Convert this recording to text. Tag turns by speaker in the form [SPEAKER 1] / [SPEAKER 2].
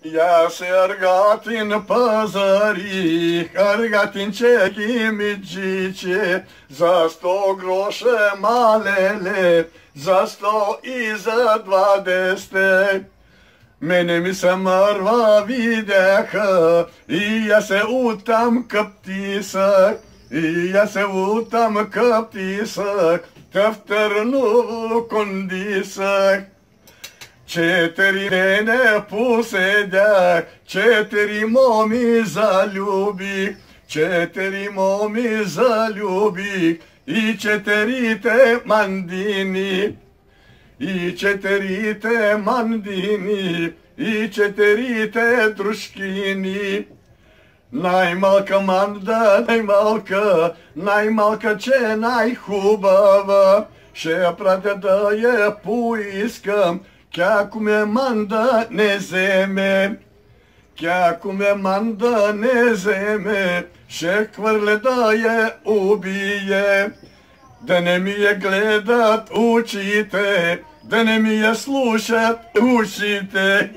[SPEAKER 1] Ja se Argatin pazarih, Argatinčeki midžiće, za 100 groše malele, za 100 i za 20. Mene mi se mrva videha, i ja se utam kaptisak, i ja se utam kaptisak, tefternu kondisak. 4 mene posedjak, 4 momi zaljubik, 4 momi zaljubik, i 4 te mandini, i 4 te mandini, i 4 te druškini. Najmalka manda, najmalka će najhubava, še prate da je poiskam, kako me manda ne zeme, kako me manda ne zeme, še kvrle da je ubije. Da ne mi je gledat učite, da ne mi je slušat učite.